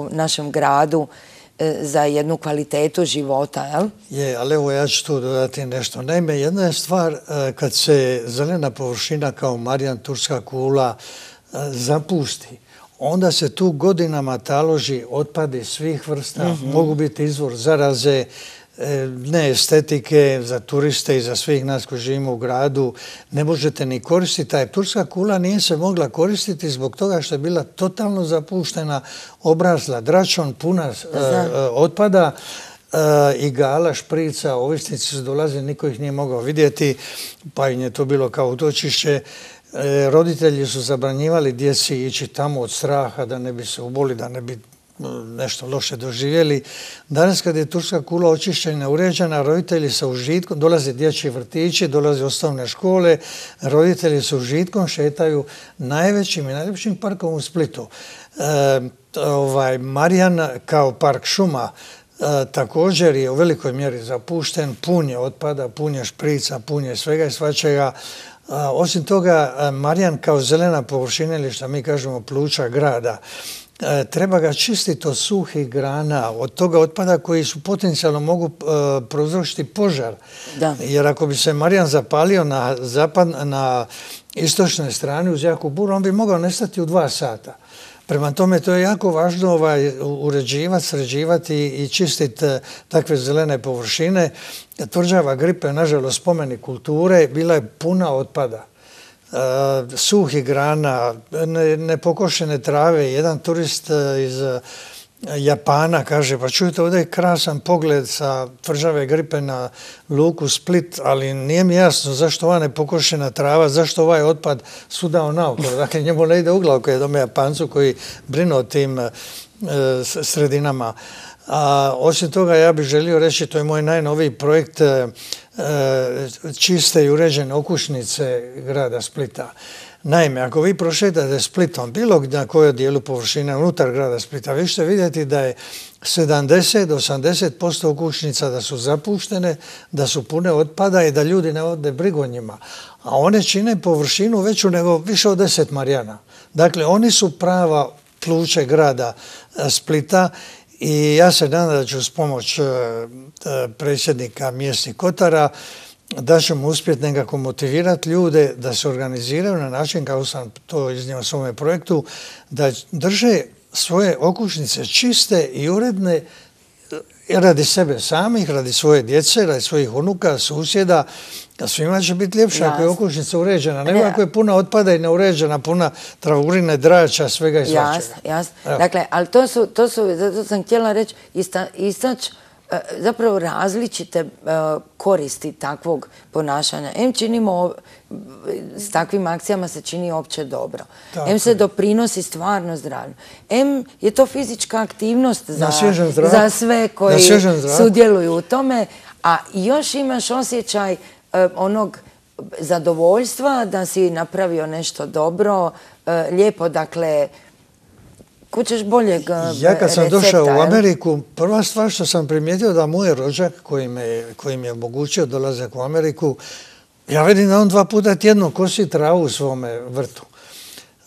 našem gradu za jednu kvalitetu života, jel? Je, ali evo ja ću tu dodati nešto. Naime, jedna je stvar kad se zelena površina kao Marjan, turska kula zapusti, onda se tu godinama taloži otpadi svih vrsta, mogu biti izvor zaraze ne estetike, za turiste i za svih nas koji živimo u gradu, ne možete ni koristiti. A turska kula nije se mogla koristiti zbog toga što je bila totalno zapuštena, obrasla dračom, puna otpada, igala, šprica, ovisnici su dolazili, niko ih nije mogao vidjeti, pa im je to bilo kao utočište. Roditelji su zabranjivali djeci ići tamo od straha da ne bi se uboli, da ne bi nešto loše doživjeli. Danas kad je turska kula očišćena, uređena, roditelji sa užitkom, dolaze dječji vrtići, dolaze osnovne škole, roditelji sa užitkom šetaju najvećim i najljepšim parkom u Splitu. Marijan kao park šuma također je u velikoj mjeri zapušten, pun je otpada, pun je šprica, pun je svega i svačega. Osim toga, Marijan kao zelena površina ili što mi kažemo pluća grada, treba ga čistiti od suhih grana, od toga otpada koji su potencijalno mogu prouzročiti požar. Da. Jer ako bi se Marijan zapalio na istočnoj strani uz jaku buru, on bi mogao nestati u 2 sata. Prema tome, to je jako važno uređivati, sređivati i čistiti takve zelene površine. Tvrđava Gripe, nažalost, spomenik kulture, bila je puna otpada. Suhih grana, nepokošene trave. Jedan turist iz Japana kaže, pa čujte, ovdje je krasan pogled sa Tvrđave Gripe na luku Split, ali nije mi jasno zašto ova nepokošena trava, zašto ovaj otpad sudao naokolo. Dakle, njemu ne ide u glavu koji je dome Japancu koji brinu o tim sredinama. Osim toga, ja bih želio reći, to je moj najnoviji projekt čiste i uređene okućnice grada Splita. Naime, ako vi prošetate Splitom, bilo na kojoj dijelu površine unutar grada Splita, vi ćete vidjeti da je 70 do 80% okućnica da su zapuštene, da su pune otpada i da ljudi ne vode brigu o njima. A one čine površinu veću nego više od 10 Marijana. Dakle, oni su prava pluće grada Splita i ja se nadam da ću s pomoć predsjednika mjesnih kotara da ćemo uspjeti nekako motivirati ljude da se organiziraju na način, kako sam to iznio u svome projektu, da drže svoje okućnice čiste i uredne radi sebe samih, radi svoje djece, radi svojih unuka, susjeda. Svima će biti ljepše ako je okućnica uređena, nego ako je puna otpada i neuređena, puna travurine, drača, svega i svačega. Jasno, jasno. Dakle, ali to sam htjela reći, istaći zapravo različite koristi takvog ponašanja. Činimo, s takvim akcijama se čini opće dobro. Se doprinosi stvarno zdravlju. Je to fizička aktivnost za sve koji sudjeluju u tome, a još imaš osjećaj onog zadovoljstva da si napravio nešto dobro, lijepo, dakle, kućeš boljeg recepta. Ja kad sam došao u Ameriku, prva stvar što sam primijetio da moj rođak koji mi je omogućio dolazak u Ameriku, ja vidim da on 2 puta tjedno kosi travu u svome vrtu.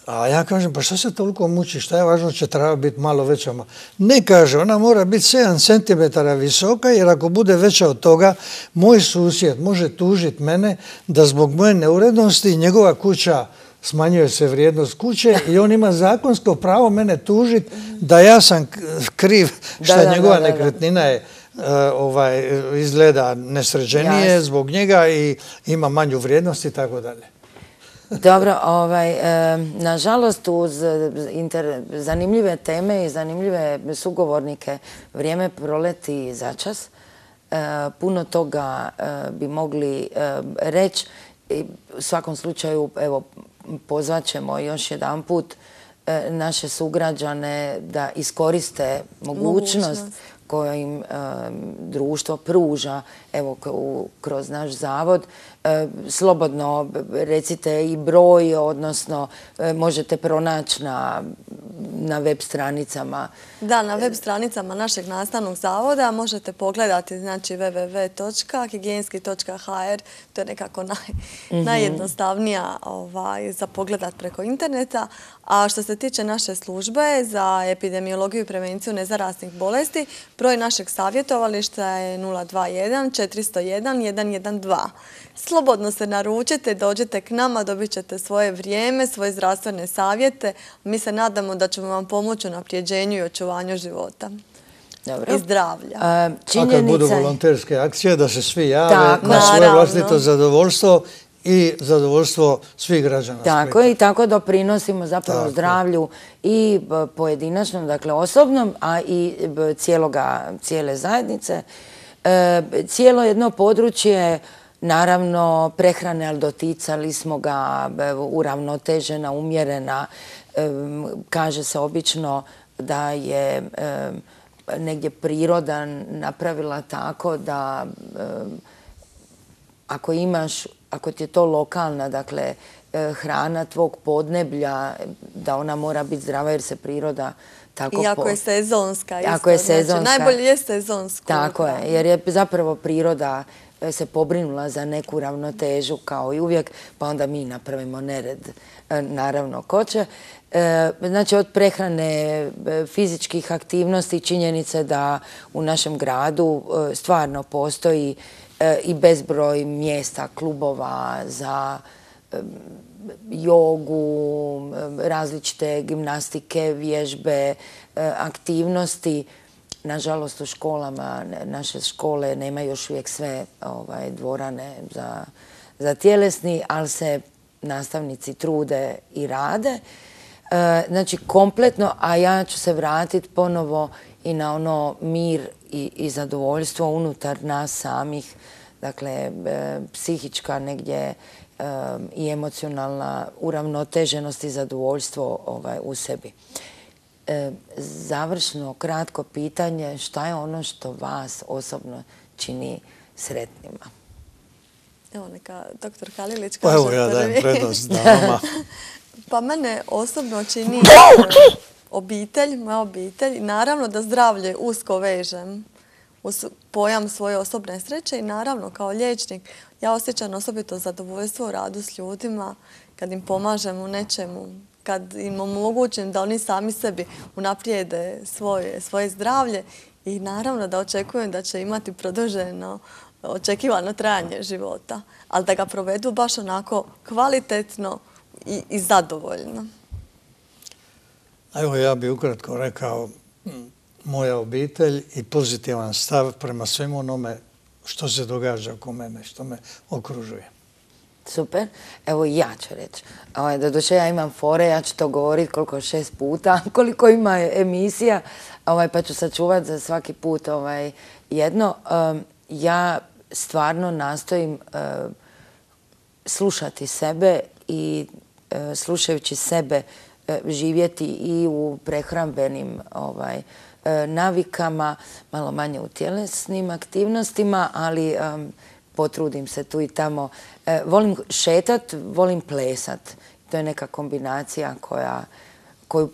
A ja kažem, pa što se toliko muči, šta je važno, će trava biti malo veća? Ne, kaže, ona mora biti 7 cm visoka, jer ako bude veća od toga, moj susjed može tužiti mene da zbog moje neurednosti njegova kuća smanjuje se vrijednost kuće i on ima zakonsko pravo mene tužiti da ja sam kriv što njegova nekretnina je izgleda nesređenije zbog njega i ima manju vrijednost i tako dalje. Dobro, nažalost uz zanimljive teme i zanimljive sugovornike vrijeme proleti začas. Puno toga bi mogli reći. U svakom slučaju, evo, pozvat ćemo još jedan put naše sugrađane da iskoriste mogućnost koju im društvo pruža, evo, kroz naš zavod. Slobodno recite i broj, odnosno možete pronaći na web stranicama. Da, na web stranicama našeg nastavnog zavoda možete pogledati, znači www.higijenski.hr, to je nekako najjednostavnija za pogledat preko interneta. A što se tiče naše službe za epidemiologiju i prevenciju nezaraznih bolesti, broj našeg savjetovališta je 021 401 112. Slobodno se naručite, dođite k nama, dobit ćete svoje vrijeme, svoje zdravstvene savjete. Mi se nadamo da ćemo vam pomoći u naprijeđenju i očuvanju života. i zdravlja. A kad budu volonterske akcije, da se svi jave na svoje vlastito zadovoljstvo i zadovoljstvo svih građana Splita. Tako je, i tako doprinosimo zapravo zdravlju i pojedinačnom, dakle osobnom, a i cijele zajednice. Cijelo jedno područje, naravno, prehrane, ali doticali smo ga, uravnotežena, umjerena. Kaže se obično da je negdje priroda napravila tako da ako ti je to lokalna, dakle, hrana tvog podneblja, da ona mora biti zdrava jer se priroda tako... I ako je sezonska. Ako je sezonska. Znači, najbolje je sezonsko. Tako je, jer je zapravo priroda se pobrinula za neku ravnotežu kao i uvijek, pa onda mi napravimo nered, naravno, ko će. Znači, od prehrane, fizičkih aktivnosti, činjenice da u našem gradu stvarno postoji i bezbroj mjesta, klubova za jogu, različite gimnastike, vježbe, aktivnosti. Nažalost, u školama, naše škole nemaju još uvijek sve dvorane za tjelesni, ali se nastavnici trude i rade. Znači, kompletno, a ja ću se vratiti ponovo i na ono mir i zadovoljstvo unutar nas samih, dakle, psihička negdje i emocionalna uravnoteženost i zadovoljstvo u sebi. Završno, kratko pitanje, šta je ono što vas osobno čini sretnima? Evo, neka doktor Kalilić kaže prvi. Pa evo, ja dajem prednost damama. Pa mene osobno čini obitelj, moja obitelj. Naravno da zdravlje usko vežem uz pojam svoje osobne sreće i naravno kao liječnik ja osjećam osobito zadovoljstvo u radu s ljudima kad im pomažem u nečemu, kad im omogućim da oni sami sebi unaprijede svoje zdravlje i naravno da očekujem da će imati produženo očekivano trajanje života, ali da ga provedu baš onako kvalitetno i zadovoljno. Evo, ja bih ukratko rekao moja obitelj i pozitivan stav prema svemu onome što se događa oko mene, što me okružuje. Super. Evo i ja ću reći. Doduše ja imam fore, ja ću to govoriti koliko 6 puta, koliko ima emisija, pa ću sačuvati za svaki put jedno. Ja stvarno nastojim slušati sebe i slušajući sebe živjeti i u prehrambenim navikama, malo manje u tjelesnim aktivnostima, ali potrudim se tu i tamo. Volim šetat, volim plesat. To je neka kombinacija koju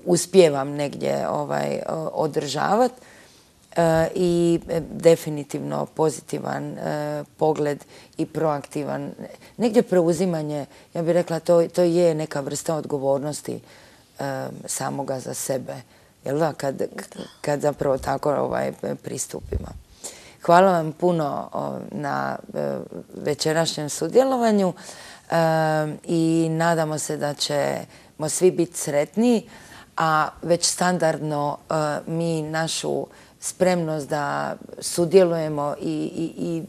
uspijevam negdje održavati. I definitivno pozitivan pogled i proaktivan. Negdje preuzimanje, ja bih rekla, to je neka vrsta odgovornosti samoga za sebe. Jel da? Kad zapravo tako pristupimo. Hvala vam puno na večerašnjem sudjelovanju i nadamo se da ćemo svi biti sretniji, a već standardno mi našu spremnost da sudjelujemo i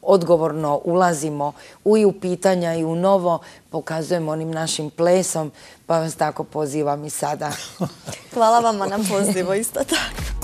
odgovorno ulazimo i u pitanja i u novo, pokazujemo onim našim plesom, pa vas tako pozivam i sada. Hvala vama na pozivu, isto tako.